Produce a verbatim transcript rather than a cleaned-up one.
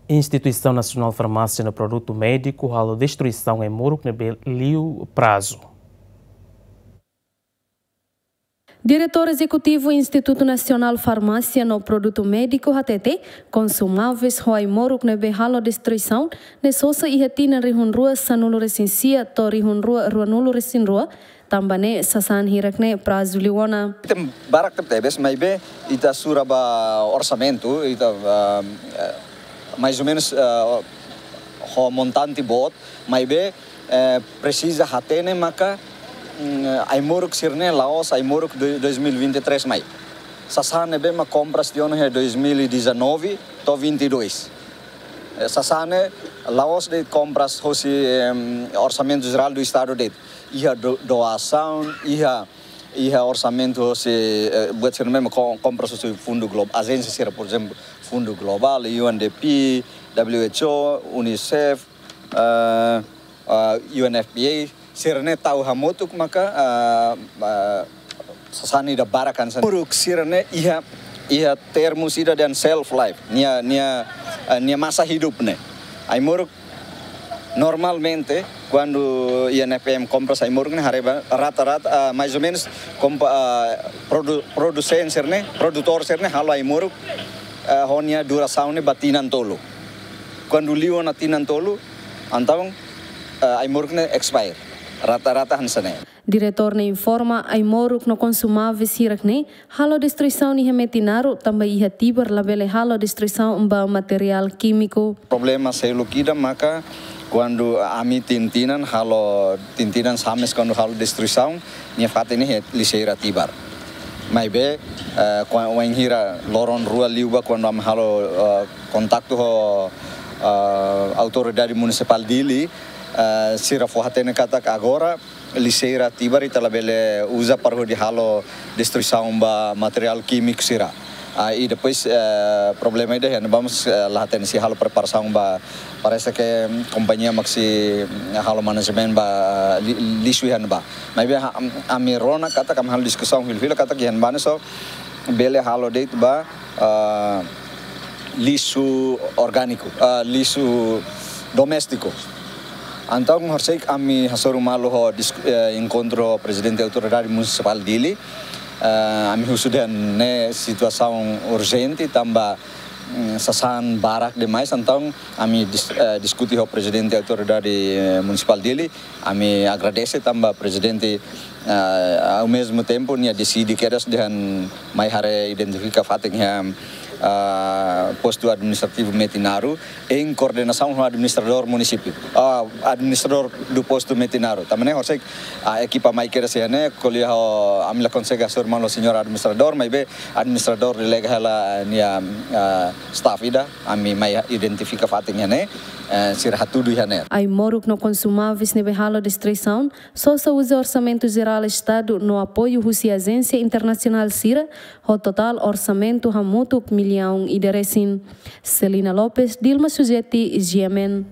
Instituisaun Nasionál Farmásia no Produtu Médiku halo destruisaun ai-moruk ne'ebé liu prazu. Diretór Ezekutivu Institutu Nasionál Farmásia no Produtu Médiku hateten, konsumáveis ho ai-moruk ne'ebé halo destruisaun ne'e sosa iha tinan rihun rua sanulu resin sia to'o rihun rua ruanulu resin rua, tanba ne'e sasán hirak ne'e prazu liu ona. Item barak tebes, maibé ita sura ba orsamentu, ita, ah, eh, mais ou menus, ah, ho montante boot, maibé, eh, presiza hatene maka, mm, ai-moruk sira-ne'e la'ós ai-moruk de dois mil e vinte e três mai. Sasán ne'ebé mak kompras tiha ona iha dois mil e dezanove to'o vinte e dois. Eh, sasán ne'e la'ós de'it kompras hosi, em, Orsamentu Jerál do Estadu de'it. Iha do-, doasaun, iha, iha orsamentu hosi, eh, buat sira-ne'e mak ko-, kompras hosi fundu glo-, ajénsia sira, por ezemplu, Fundu Globál, U N D P, W H O, UNICEF, eh, eh, U N F P A, sira-ne'e tau hamutuk maka, eh, eh, sasán ida barak hanesan. Moruk sira-ne'e iha, iha termus ida dehan shelf life, nia, nia, eh, nia masa hidup ne'e. Ai-moruk normalmente, kuandu I N F M kompras ai-moruk ne'e haree ba rata-rata, ah, mais ou menus kompa-, ah, produ-, produsen sira-ne'e, produtór sira-ne'e halo ai-moruk, ah, ho nia durasaun ne'e ba tinan tolu. Kuandu liu ona tinan tolu, entaun, ah, ai-moruk ne'e expire. Rata-rata hanesan ne'e. Diretór ne'e informa ai-moruk no konsumáveis hirak ne'e halo destruisaun iha Metinaro, tanba iha Tibar labele halo destruisaun ba materiál kímiku. Problema seluk ida maka kuandu ami tinan-tinan halo, tinan-tinan Sames kuandu halo destruisaun, nia fatin iha lixeira Tibar. Maibé, eh, kua-, wainhira loron rua liubá kuandu ami halo, eh, kontaktu ho, eh, Autoridade Munisipál Dili, eh, sira fó-hatene katak agora lixeira Tibar ita labele uza para hodi halo destruisaun ba materiál kímiku sira. Ah, i depois, eh, problema ida iha ne'ebá mós, eh, la hatene sei halo preparasaun ba, parese ke, mm, kompañia mak sei, mm, halo manajemen ba, ah, li-, lixu iha ne'ebá. Maibé ha-, am-, ami rona katak ami halo diskusaun fila-fila katak iha ne'ebá ne'e só bele halo de'it ba, ah, lixu orgániku, ah, lixu doméstiku. Entaun, horisehik ami hasoru malu ho dis-, eh, enkontru Prezidente Autoridade Munisipál Dili, eh, ami husu dehan ne'e situasaun urjente, tanba, mm, sasán barak demais, entaun ami dis-, eh, diskute ho Prezidente Autoridade, eh, Munisipál Dili, ami agradese tanba Prezidente, ah, ao mesmo tempo, nia deside kedas dehan mai haree, identifika fatin iha, ah, postu administrativu Metinaro, em coordenação ho administradór munisípiu, ah, administradór do postu Metinaro. Tanba ne'e horisehik, ah, ekipa mai kedas iha ne'e, ko'alia ho, ami la konsege hasoru malu ho señór administradór, maibé administradór delega hela nia, ah, staff ida, ami mai identifika fatin iha ne'e, eh, sira hatudu iha ne'e. Ai-moruk no konsumáveis ne'ebé halo destruisaun sosa uza Orsamentu Jerál Estadu no apoiu husi ajénsia internasionál sira, ho totál orsamentu hamutuk millaun ida resin. Celina Lopes, Dilma Sujeti, G M N.